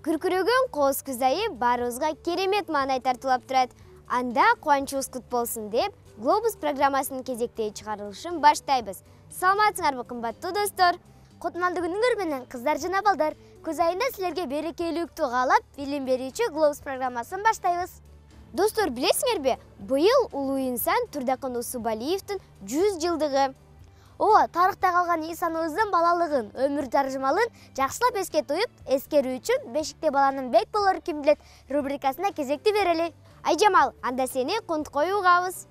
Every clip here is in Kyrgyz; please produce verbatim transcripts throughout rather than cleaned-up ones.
Күркүрөгөн кооз күз айы баарыбызга керемет маанай тартуулап турат. Анда кубанычыбыз кут болсун деп Глобус программасынын кезектеги чыгарылышын баштайбыз. Саламатсыңарбы кымбаттуу достор? Кутмандуу күнүңөр менен кыздар жана балдар. Күз айында силерге берекелүүлүктү каалап, билим берүүчү Глобус программасын баштайбыз. Достор, билесиңерби, быйыл улуу инсан Турдакын Усубалиевдин жүз жылдыгы. Ооба, тарыхта калган инсаныбыздын балалыгын, өмүр таржымалын жакшылап эске туюп, эскерүү үчүн Бешикте баланын бек болору ким билет рубрикасына кезекти берели. Айжамал, анда сени кунткой угабыз.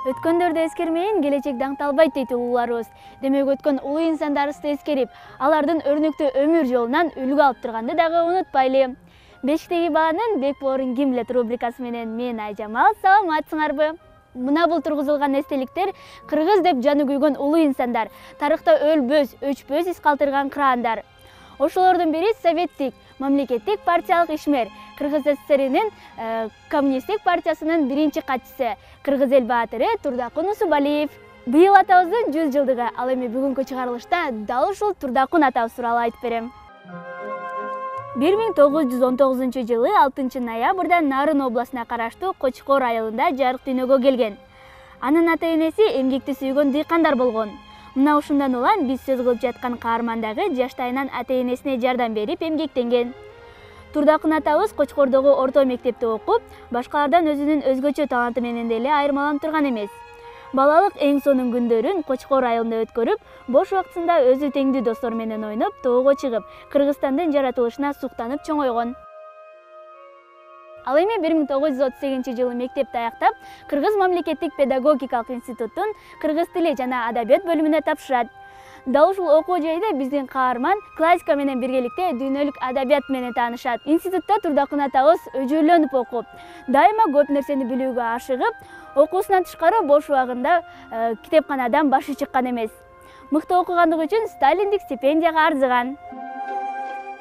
Өткөндөрдү эскермейин, келечек даңталбайт дейт улууларыбыз. Демек өткөн улуу инсандарыбызды эскерип, алардын өрнөктүү өмүр жолунан үлгү алып турганды дагы унутпайлы. Бешиктеги баланын бек болорун ким билет рубрикасы менен мен Айжамал, саламатсыңарбы? Мына бул тургузулган эстеликтер кыргыз деп жаны күйгөн улуу инсандар, тарыхта өлбөс, өчпөс из калтырган кыраандар. Ошолордун бири советтик мамлекеттик партиялык ишмер, Кыргыз СССРинин коммунисттик партиясынын биринчи катчысы, кыргыз эл баатыры Турдакын Усубалиев. Быйыл атабыздын жүз жылдыгы, ал эми бүгүнкү чыгарылышта дал ушул Турдакын атабыз тууралуу айтып берем. бир миң тогуз жүз он тогузунчу жылы алтынчы ноябрда Нарын областына караштуу Кочкор айылында жарык дүйнөгө келген. Анын ата-энеси эмгекти сүйгөн дыйкандар болгон. Мына ушундан улам биз сөз кылып жаткан каармандагы жаштайынан ата-энесине жардам берип эмгектенген. Турдакын атабыз Кочкордогу орто мектепте окуп, башкалардан өзүнүн өзгөчө таланты менен деле айырмаланып турган эмес. Балалык эң сонун күндөрүн Кочкор айылында өткөрүп, бош убактысында өзү теңдүү достор менен ойноп, тоого чыгып, Кыргызстандын жаратылышына суктанып чоңойгон. Ал эми бир миң тогуз жүз отуз сегизинчи жылы мектепти аяктап, Кыргыз мамлекеттик педагогикалык институттун кыргыз тили жана адабият бөлүмүнө тапшырат. Дал ушул окуу жайда биздин каарман классика менен биргеликте дүйнөлүк адабият менен таанышат. Институтта Турдакын атабыз өжөлөнүп окуп, дайыма көп нерсени билүүгө ашыгып, окуусунан тышкары бош убагында э, китепканадан башы чыккан эмес. Мыкты окугандыгы үчүн Сталиндик стипендияга арзыган.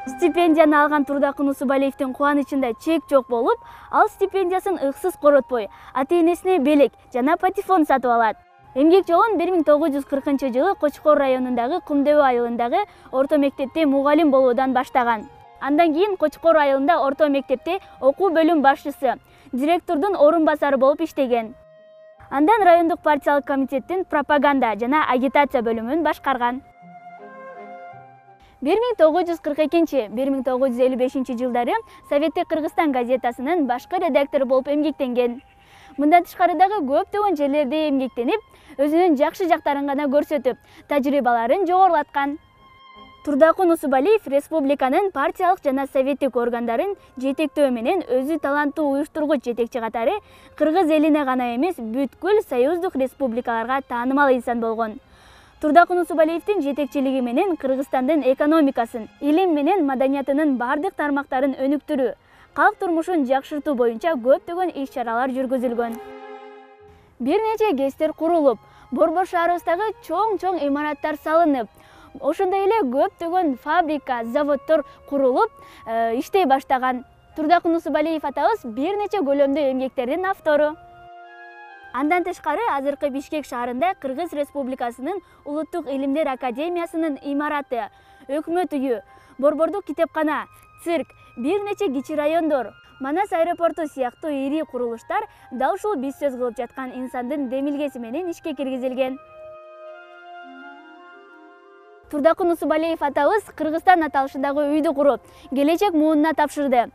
Стипендияны алган Турдакын Усубалиевдин кубанычында чек жок болуп, ал стипендиясын ыксыз коротпой, ата-энесине белек жана патефон сатып алат. Эмгек жолун бир миң тогуз жүз кыркынчы жылы Кочкор районундагы Кумдөбө айылындагы орто мектепте мугалим болуудан баштаган. Андан кийин Кочкор айылында орто мектепте окуу бөлүм башчысы, директордун орун басары болуп иштеген. Андан райондук партиялык комитеттин пропаганда жана агитация бөлүмүн башкарган. бир миң тогуз жүз кырк экинчи — бир миң тогуз жүз элүү бешинчи жылдары Советтик Кыргызстан газетасынын башкы редактору болуп эмгектенген. Мындан тышкары дагы көптөгөн жерлерде эмгектенип, өзүнүн жакшы жактарын гана көрсөтүп, тажрыйбаларын жогорулаткан. Турдакын Усубалиев республиканын партиялык жана советтик органдарын жетектөө менен өзү таланттуу уюштургуч жетекчи катары кыргыз элине гана эмес, бүткүл союздук республикаларга таанымал инсан болгон. Турдакын Усубалиевдин жетекчилиги менен Кыргызстандын экономикасын, илим менен маданиятынын бардык тармактарын өнүктүрүү, калк турмушун жакшыртуу боюнча көптөгөн иш-чаралар жүргүзүлгөн. Бир нече ГЭСтер курулуп, Борбор шаарыбыздагы чоң-чоң имараттар салынып, ошондой эле көптөгөн фабрика, заводдор курулуп, э, иштей баштаган. Турдакын Усубалиев атабыз бир нече көлөмдүү эмгектердин автору. Андан тышкары азыркы Бишкек шаарында Кыргыз Республикасынын Улуттук илимдер академиясынын имараты, өкмөт үйү, борбордук китепкана, цирк, бир нече кичи райондор, Манас аэропорту сыяктуу ири курулуштар дал ушул биз сөз кылып жаткан инсандын демилгеси менен ишке киргизилген. Турдакын Усубалиев атабыз Кыргызстан аталышындагы үйдү куруп, келечек муунуна тапшырды.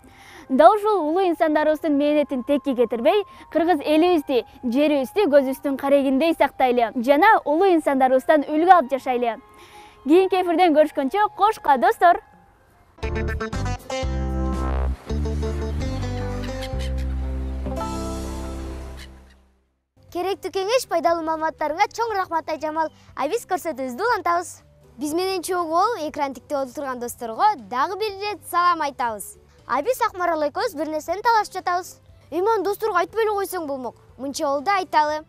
Дал ушул улуу инсандарыбыздын мээнетин текке кетирбей, кыргыз элибизди, жерибизди көзүбүздүн карегиндей сактайлы жана улуу инсандарыбыздан үлгү алып жашайлы. Кийинки эфирден көрүшкөнчө кошка достор. Керектүү кеңеш, пайдалуу маалыматтарыңа чоң рахмат Айжамал. А биз көрсөтүүбүздү улантабыз. Биз менен чогуу болуп экран тиктеп отурган досторго дагы бир ирет салам айтабыз. А биз Акмарал экөөбүз бир нерсени талашып жатабыз. Эйман досторго айтпай эле койсоң болмок. Мынча болду айталы.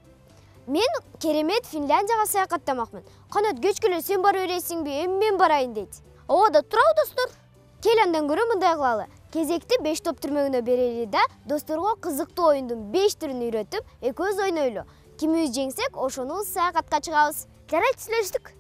Мен керемет Финляндияга саякаттамакмын. Канат кечкеле сен бара бересиңби? Эми мен барайын дейт. Ооба да турабы достор. Кел андан көрө мындай кылалы. Кезекти беш топ түрмөгүнө берели да досторго кызыктуу оюндун беш түрүн үйрөтүп, экөөбүз ойнойлу. Кимибиз жеңсек, ошону саякатка чыгабыз. Жарайт, сүйлөштүк.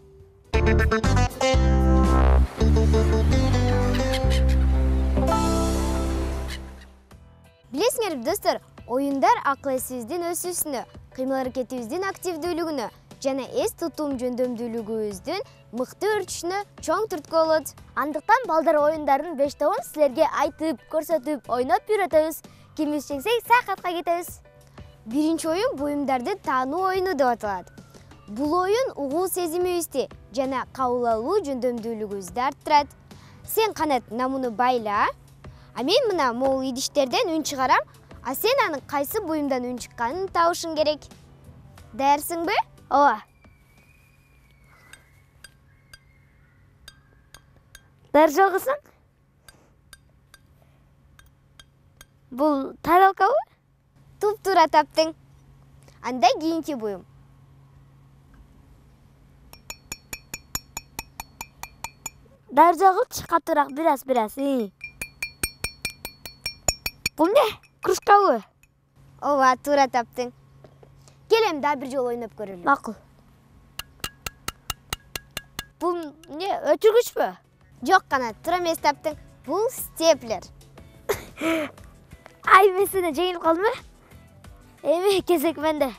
Билесиңерби, достор, оюндар акыл эсибиздин өсүүсүнө, кыймыл-аракетибиздин активдүүлүгүнө жана эс тутум жөндөмдүүлүгүбүздүн мыкты өрчүшүнө чоң түрткү болот. Андыктан балдар оюндардын беш тобун силерге айтып, көрсөтүп, ойноп үйрөтөбүз. Кимибиз жеңсек, саякатка кетебиз. Биринчи оюн буюмдарды таануу оюну деп аталат. Бул оюн угуу сезимибизди жана кабыл алуу жөндөмдүүлүгүбүздү арттырат. Сен Канат намуну байла, а мен мына могул идиштерден үн чыгарам, а сен анын кайсы буюмдан үн чыкканын табышың керек. Даярсыңбы? Ооба. Даяр жалгысаң? Бул таралкабы? Туп-туура таптың. Анда кийинки буюм. Даяр жалгыч катуураак, бир-аз, бир-аз. Бул эмне? Кружкабы? Ооба, туура таптың. Келем да бир жолу ойноп көрөлү. Макул. Бул эмне, өчүргүчпү? Жок, Канат, туура эмес таптың. Бул степлер. Ай, мен сенден жеңилип калдым э? Эми кезек менде.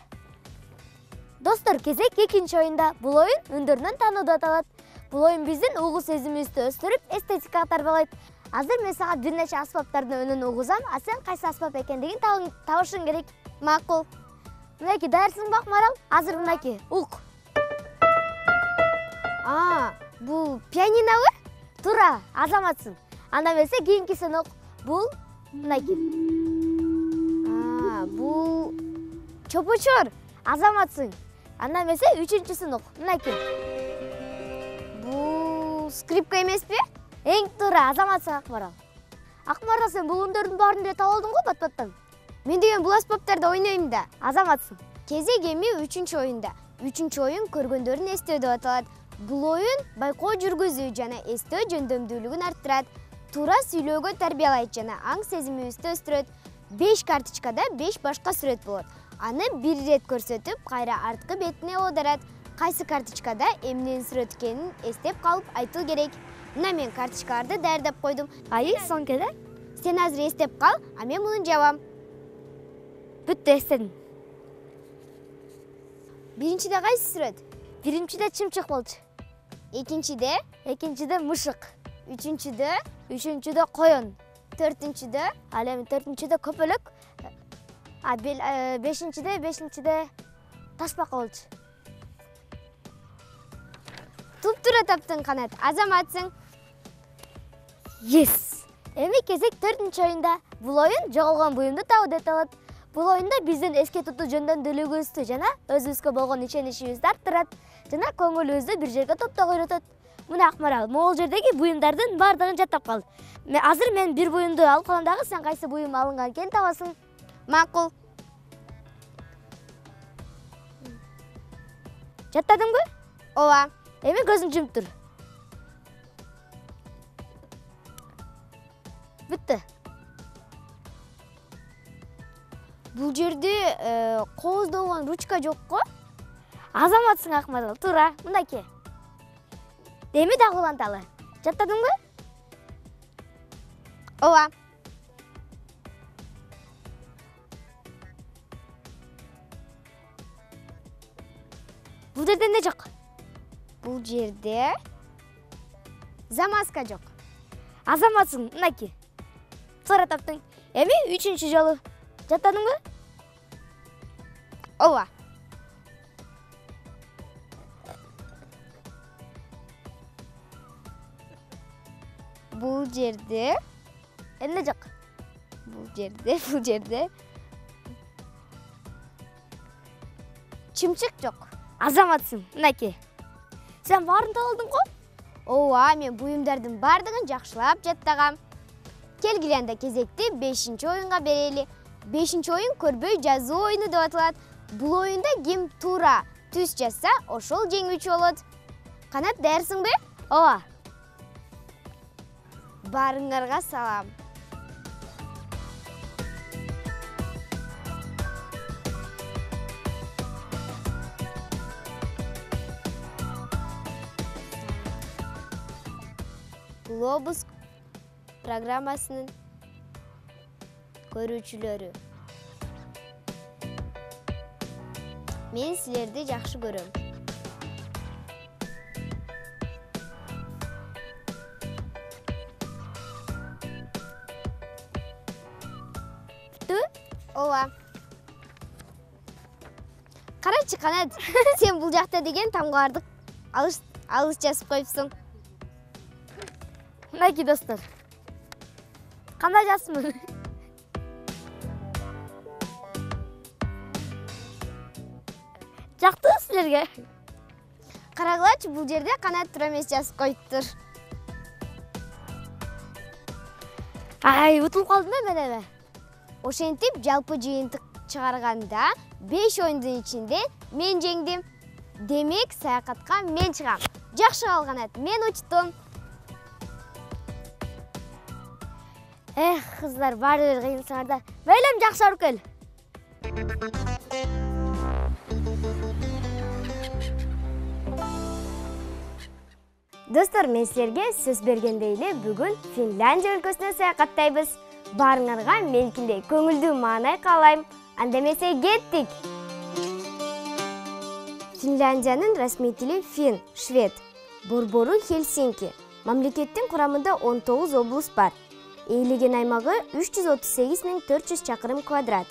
Достор, кезек экинчи оюнда. Бул оюн үндөрүнөн таануу деп аталат. Бул оюн биздин угуу сезимибизди өстүрүп, эстетикага тарбалайт. Азыр мен сага бир нече аспаптардын үнүн угузам, а сен кайсы аспап экендигин табышың керек. Макул. Мынакей, даярсыңбы Акмарал? Азыр мынакей, ук. А, бул пианинобу? Туура, азаматсың. Анда эмесе кийинкисин ук. Бул мынакей. А, бул чопочор. Азаматсың. Анда эмесе үчүнчүсүн ук. Мынакей. Бул скрипка эмеспи? Эң туура, азаматсың Акмарал. Акмарал, сен бул үндөрдүн баарын эле таап алдың го бат-баттан? Мен деген бул аспаптарда ойнойм да. Азаматсың. Кезек эми үчүнчү оюнда. Үчүнчү оюн көргөндөрүн эстөө деп аталат. Бул оюн байкоо жүргүзүү жана эстөө жөндөмдүүлүгүн арттырат. Туура сүйлөөгө тарбиялайт жана аң сезимибизди өстүрөт. беш карточкада беш башка сүрөт болот. Аны бир ирет көрсөтүп, кайра арткы бетине оодарат. Кайсы карточкада эмненин сүрөт экенин эстеп калып айтуу керек. Мына мен карточкаларды даярдап койдум. Айы, соңкеде? Сен азыр эстеп кал, а мен муну жабам. Бүттү, эстедим. Биринчиде кайсы сүрөт? Биринчиде чымчык болчу. Экинчиде? Экинчиде мышык. Үчүнчүдө? Үчүнчүдө коён. Төртүнчүдө? Ал эми төртүнчүдө көпөлөк. А бешинчиде, бешинчиде ташбака болчу. Туп-туура таптың, Канат, азаматсың. Yes. Эми кезек төртүнчү оюнда. Бул оюн жоголгон буюмду табуу деп аталат. Бул оюнда биздин эске тутуу жөндөмдүүлүгүбүздү жана өзүбүзгө болгон ишеничибизди арттырат жана көңүлүбүздү бир жерге топтоого үйрөтөт. Мына Акмарал, могул жердеги буюмдардын баардыгын жаттап кал. Мен азыр мен бир буюмду алып калам дагы, сен кайсы буюм алынган экенин табасың. Макул. Жаттадыңбы? Ооба. Эми көзүң жумуп тур. Бүттү. Бул жерде кооздолгон ручка жокко? Азаматсың Акмарал, туура, мынакей. Эми дагы уланталы. Жаттадыңбы? Ооба. Бул жерде эмне жок? Бул жерде замазка жок. Азаматсың, мынакей. Туура таптың. Эми үчүнчү жолу. Жаттадыңбы? Ооба. Бул жерде эмне жок? Бул жерде, бул жерде чымчык жок. Азаматсың, мынакей. Сен баарын таап алдың го? Ооба, мен буюмдардын баардыгын жакшылап жаттагам. Келгиле анда кезекти бешинчи оюнга берели. Бешинчи оюн көрбөй жазуу оюну деп аталат. Бул оюнда ким туура түз жазса, ошол жеңүүчү болот. Канат, даярсыңбы? Ооба. Баарыңарга салам. Globus программасынын көрүүчүлөрү. Мен силерди жакшы көрөм. Бүттү? Ооба. Карачы Канат, сен бул жакта деген тамгарды алыс алыс жазып коюпсуң. Мынакей достор. Кандай жазмын? Жактыбы силерге? Карагылачы, бул жерде Канат тура эмес жазып коюптур. Ай, утулуп калдым да мен эме. Ошентип жалпы жыйынтык чыгарганда беш оюндун ичинде мен жеңдим. Демек, саякатка мен чыгам. Жакшы калганат, мен учтум. Эх, кыздар, баары бир кыйынсыңар да. Мейлем жакшы барып кел. Достор, мен силерге сөз бергендей эле бүгүн Финляндия өлкөсүнө саякаттайбыз. Баарыңарга меникиндей көңүлдүү маанай каалайм. Анда эмесе кеттик. Финляндиянын расмий тили фин, швед. Борбору Хельсинки. Мамлекеттин курамында он тогуз облус бар. Ээлеген аймагы үч жүз отуз сегиз миң төрт жүз чакырым квадрат.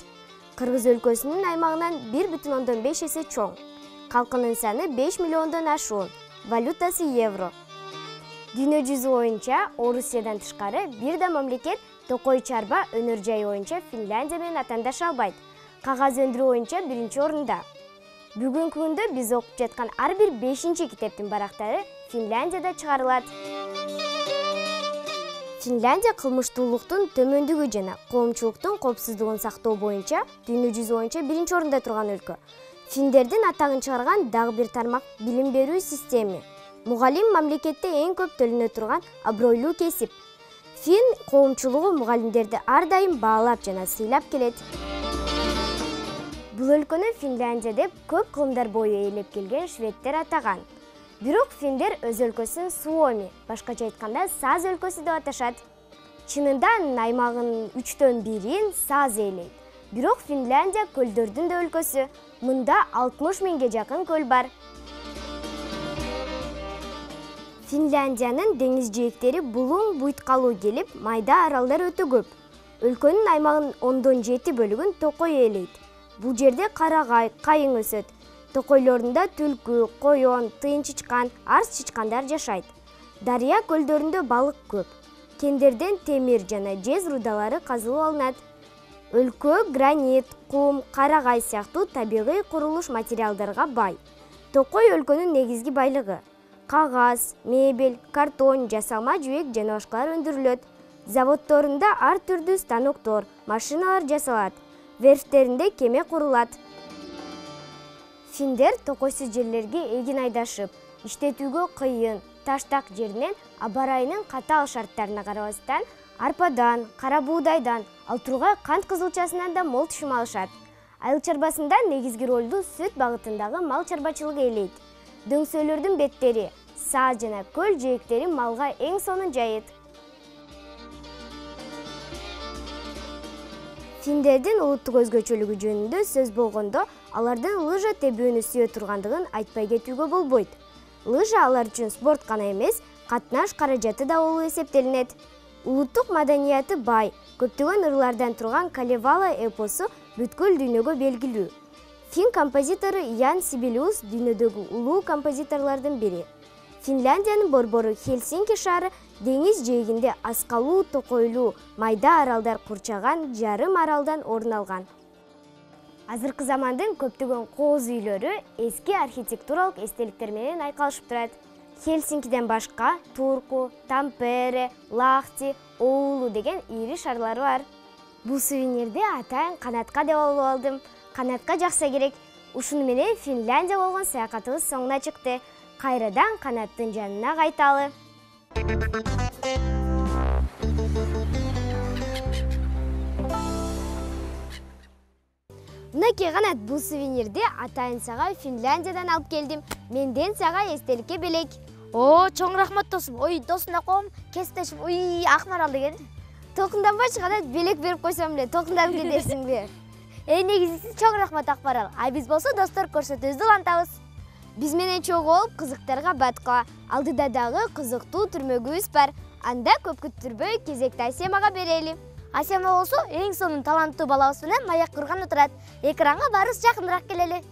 Кыргыз өлкөсүнүн аймагынан бир бүтүн ондон беш эсе чоң. Калкынын саны беш миллиондон ашуун. Валютасы евро. Дүйнө жүзү боюнча Орусиядан тышкары бир да мамлекет токой чарба өнөр жайы боюнча Финляндия менен атандаша албайт. Кагаз өндүрүү боюнча биринчи орунда. Бүгүнкү күндө биз окуп жаткан ар бир бешинчи китептин барактары Финляндияда чыгарылат. Финляндия кылмыштуулуктун төмөндүгү жана коомчулуктун коопсуздугун сактоо боюнча дүйнө жүзү боюнча биринчи орунда турган өлкө. Финдердин атагын чыгарган дагы бир тармак билим берүү системи. Мугалим мамлекетте эң көп төлөнө турган абройлуу кесип. Фин коомчулугу мугалимдерди ар дайым баалап жана сыйлап келет. Бул өлкөнү Финляндия деп көп кылымдар бою ээлеп келген шведтер атаган. Бирок финдер өз өлкөсүн Суоми, башкача айтканда Саз өлкөсү деп аташат. Чынында анын аймагынын үчтөн бирин Саз ээлейт. Бирок Финляндия көлдөрдүн да өлкөсү. Мында алтымыш миңге жакын көл бар. Финляндиянын деңиз жээктери булуң буйткалуу келип, майда аралдар өтө көп. Өлкөнүн аймагынын ондон жети бөлүгүн токой ээлейт. Бул жерде карагай, кайың өсөт. Токойлорунда түлкү, коён, тыйын чычкан, арс чычкандар жашайт. Дарыя көлдөрүндө балык көп. Кендерден темир жана жез рудалары казылып алынат. Өлкө гранит, кум, карагай сыяктуу табигый курулуш материалдарга бай. Токой өлкөнүн негизги байлыгы. Кагаз, мебель, картон, жасалма жүүк жана башкалар өндүрүлөт. Заводдорунда ар түрдүү станоктор, машиналар жасалат. Верфтеринде кеме курулат. Финдер токойсуз жерлерге эгин айдашып, иштетүүгө кыйын, таштак жеринен аба ырайынын катаал шарттарына карабастан арпадан, кара буудайдан, ал тургай кант кызылчасынан да мол түшүм алышат. Айыл чарбасында негизги ролду сүт багытындагы мал чарбачылыгы ээлейт. Дөңсөөлөрдүн беттери, саз жана көл жээктери малга эң сонун жайыт. Финдердин улуттук өзгөчөлүгү жөнүндө сөз болгондо, алардын лыжа тебүүнү сүйө тургандыгын айтпай кетүүгө болбойт. Лыжа алар үчүн спорт гана эмес, катнаш каражаты да болуп эсептелинет. Улуттук маданияты бай, көптөгөн ырлардан турган Калевала эпосу бүткүл дүйнөгө белгилүү. Фин композитору Ян Сибелиус дүйнөдөгү улуу композиторлордун бири. Финляндиянын борбору Хельсинки шаары деңиз жээгинде аскалуу, токойлуу, майда аралдар курчаган жарым аралдан орун алган. Азыркы замандын көптөгөн кооз үйлөрү эски архитектуралык эстеликтер менен айкалышып турат. Хельсинкиден башка Турку, Тампере, Лахти, Оулу деген ири шаарлар бар. Бул сувенирди атайын Канатка деп алып алдым. Канатка жакса керек. Ушуну менен Финляндия болгон саякатыбыз соңуна чыкты. Кайрадан Канаттын жанына кайталы. Мынакей Канат, бул сувенирди атайын сага Финляндиядан алып келдим. Менден сага эстеликке белек. О, чоң рахмат досум. Ой, досуна коом, кесиптешим. Ой, Акмарал деген. Толкунданбачы, кана белек берип койсом эле толкунданып кетерсиңби? Эй, негизиси чоң рахмат Акмарал. А биз болсо достор көрсөтүүбүздү улантабыз. Биз менен чогуу болуп кызыктарга баткыла. Алдыда дагы кызыктуу түрмөгүбүз бар. Анда көп күттүрбөй кезекти Асемага берели. Асема болсо эң сонун таланттуу балабыз менен маяк курган отурат. Экранга барыбыз жакыныраак келели.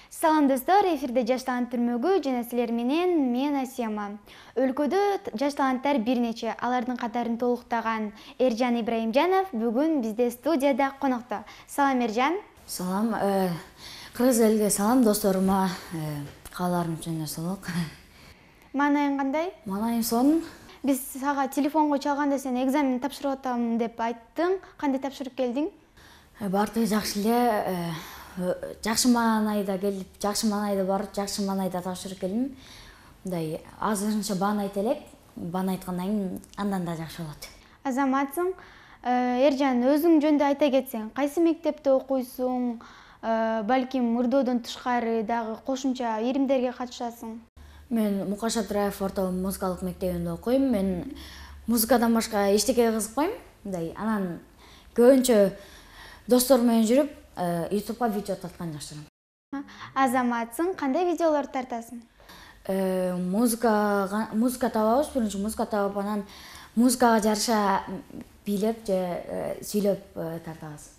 Салам достор, эфирде Жаш талант түрмөгү жана силер менен мен Асема. Өлкөдө жаш таланттар бир нече, алардын катарын толуктаган Эржан Ибраимжанов бүгүн бизде студияда конокто. Салам Эржан. Салам, кыргыз элге салам досторума, кааларым жана солок. Маанайың кандай? Маанайым сонун. Биз сага телефонго чалганда сен экзамен тапшырып атам деп айттың. Кандай тапшырып келдиң? Баардыгы жакшы эле. Жакшы маанайда келип, жакшы маанайда барып, жакшы маанайда тапшырып келдим. Мындай азырынча бааны айта элек. Бааны айткандан кийин андан да жакшы болот. Азаматсың. Эржан, өзүң жөнүндө айта кетсең, кайсы мектепте окуйсуң? Балким мурдоодон тышкары дагы кошумча иримдерге катышасың? Мен Мукаш Абдыраев орто музыкалык мектебинде окуйм. Мен музыкадан башка эчтекеге кызыкпайм. Мындай анан көбүнчө достор менен жүрүп, ютубка видео тарткан жакшырам. Азаматсың, кандай видеолорду тартасың? Музыка музыка табабыз, биринчи музыка табып, анан музыкага жараша бийлеп же сүйлөп тартабыз.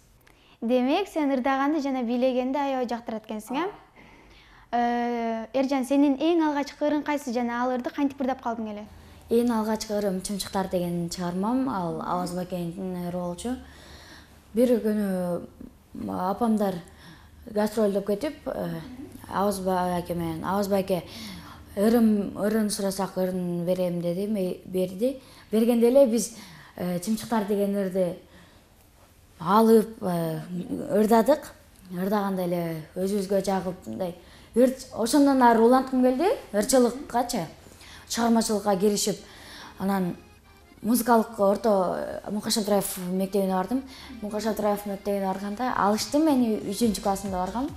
Демек, сен ырдаганды жана бийлегенди аябай жактырат экенсиң, э? Эржан, сенин эң алгачкы ырың кайсы жана ал ырды кантип ырдап калдың эле? Эң алгачкы ырым Чымчыктар деген чыгармам, ал Аваз Бакенин ыры болчу. Бир күнү апамдар гастролдоп кетип, Аваз Баке менен Аваз Баке ырым ырын сурасак ырын берем деди, берди. Бергенде эле биз Чымчыктар деген ырды алып ырдадык. Ырдаганда эле өзүбүзгө жагып, мындай ошондон ары уланткым келди, ырчылыккачы, чыгармачылыкка киришип, анан музыкалык орто Мукаш Абдыраев мектебине бардым. Мукаш Абдыраев мектебине барганда алыштым, мени үчүнчү классымда баргам.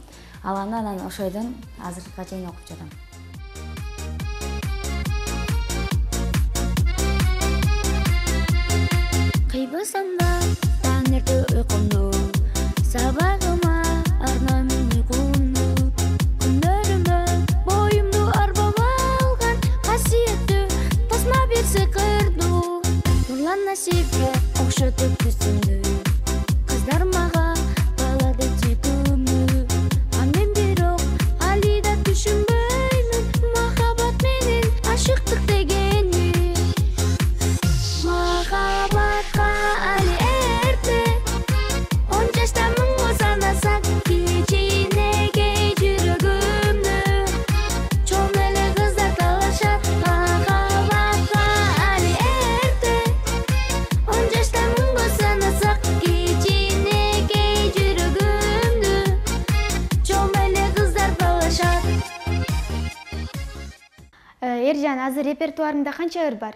Алганда анан ошойдон азыркыга чейин окуп жатам. Кыйбасам да таңертө уйкумду, сабагыма арнаймын уйкумду. Күндөрүмө боюмду арбап алган касиеттүү тасма бир сыйкырдуу. Нурлан насипке окшотуп түсүмдү, кыздар мага балады сүйкүмдү. А мен бирок али да түшүнбөймүн махабат менен ашыктык дегенди. Махабатка али эрте, он жаштамын го санасак, кичинекей жүрөгүмдү чоң эле кыздар талашат. Махабатка али эрте, он жаштамын го санасак, кичинекей жүрөгүмдү чоң эле кыздар талашат. Эржан, азыр репертуарыңда канча ыр бар?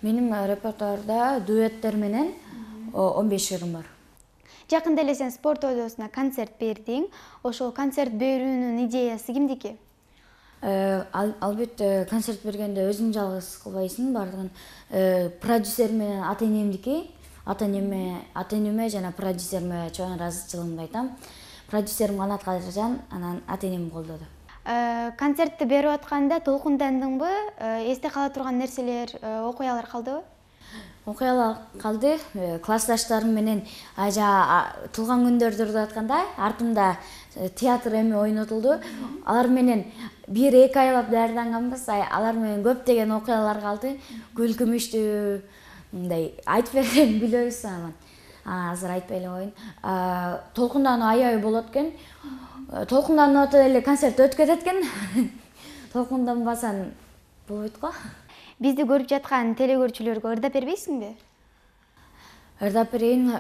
Менин репертуарда дуэттер менен он беш ырым бар. Жакында эле сен спорт доосуна концерт бердиң. Ошол концерт берүүнүн идеясы кимдики? Албетте концерт бергенде өзүң жалгыз кылбайсың, бардыгын продюсер менен ата-энемдики, ата-энеме, ата-энеме жана продюсериме чоң ыраазычылыгымды айтам. Продюсерим Канат Кадыржан, анан ата-энем колдоду. Концертти берип атканда толкундандыңбы? Эсте кала турган нерселер, окуялар калдыбы? Окуялар калды. Классташтарым менен ажа туулган күндөрдү ырдап атканда артымда театр эми ойнотулду. Алар менен бир эки айлап даярданганбыз. Алар менен көптөгөн окуялар калды. Күлкүмүштүү, мындай айтып берем билебиз анан. Азыр айтпай эле коеюн. Толкундануу аябай болот экен. Толкунданып атып эле концерт өтүп кетет экен. Толкунданбасаң болбойт го. Бизди көрүп жаткан телекөрүүчүлөргө ырдап бербейсиңби? Ырдап берейин.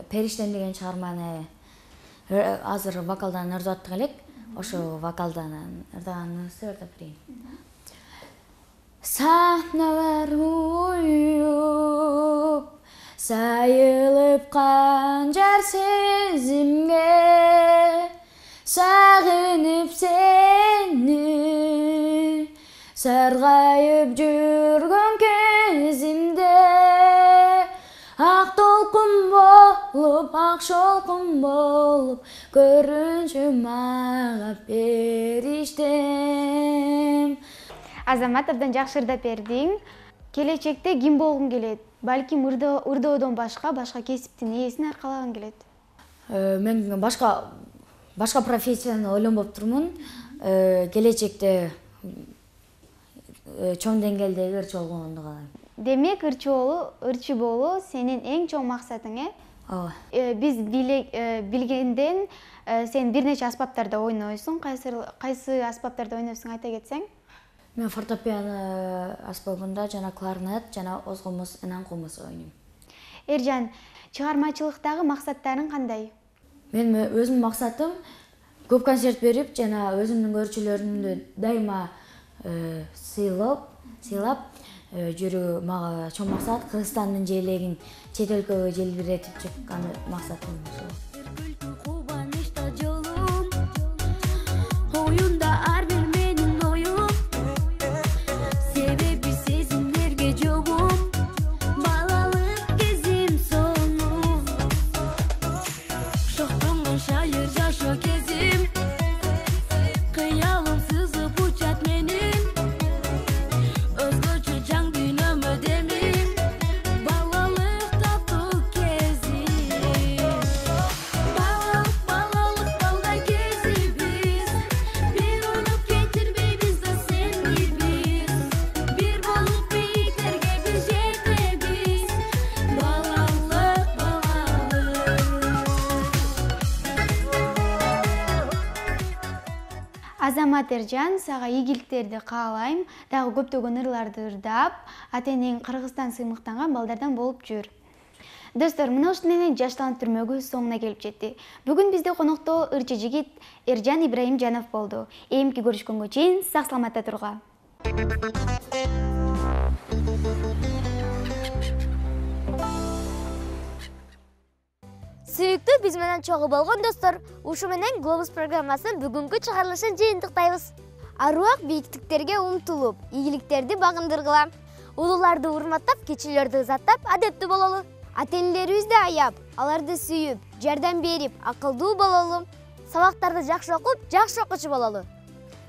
Периштем деген чыгарманы азыр вокалдан ырдап аттык элек. Ошо вокалдан ырдаганыбызды ырдап берейин. Саналар уюп, сайылып канжар сезимге, сагынып сени саргайып жүргөн кезимде, ак толкун болуп, ак шолкун болуп көрүнчү мага периштем. Азамат, абдан жакшы ырдап бердиң. Келечекте ким болгуң келет? Балким ырдоодон башка башка кесиптин ээсин аркалагың келет? Мен башка башка профессияны ойлонбоп турмун. Келечекте чоң деңгээлдеги ырчы болгонду каалайм. Демек, ырчы болуу, ырчы болуу сенин эң чоң максатың, э? Ооба. Биз билгенден сен бир нече аспаптарда ойнойсуң. Кайсы аспаптарда ойнойсуң, айта кетсең? Мен фортепиано аспабында жана кларнет жана оз комуз, энан комуз ойнойм. Эржан, чыгармачылыктагы максаттарың кандай? Мен өзүмдүн максатым көп концерт берип жана өзүмдүн көрүүчүлөрүмдү дайыма сыйлап, сыйлап жүрүү мага чоң максат. Кыргызстандын желегин чет өлкөгө желбиретип чыккан максатым ошол. Азамат Эржан, сага ийгиликтерди каалайм. Дагы көптөгөн ырларды ырдап, атенең Кыргызстан сыймыктанган балдардан болуп жүр. Достор, мына ушул менен жаштан түрмөгү соңуна келип жетти. Бүгүн бизде конокто ырчы жигит Эржан Ибраимжанов болду. Эмки көрүшкөнгө чейин сак саламатта турга. Сүйүктүү биз менен чогуу болгон достор, ушу менен Глобус программасынын бүгүнкү чыгарылышын жыйынтыктайбыз. Аруак бийиктиктерге умтулуп, ийгиликтерди багындыргыла. Улууларды урматтап, кичилерди ызаттап, адептүү бололу. Ата-энелерибизди аяп, аларды сүйүп, жардам берип, акылдуу бололу. Сабактарды жакшы окуп, жакшы окуучу бололу.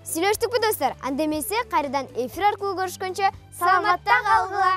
Сүйлөштүкпү достор? Анда эмесе кайрадан эфир аркылуу көрүшкөнчө саламатта калгыла.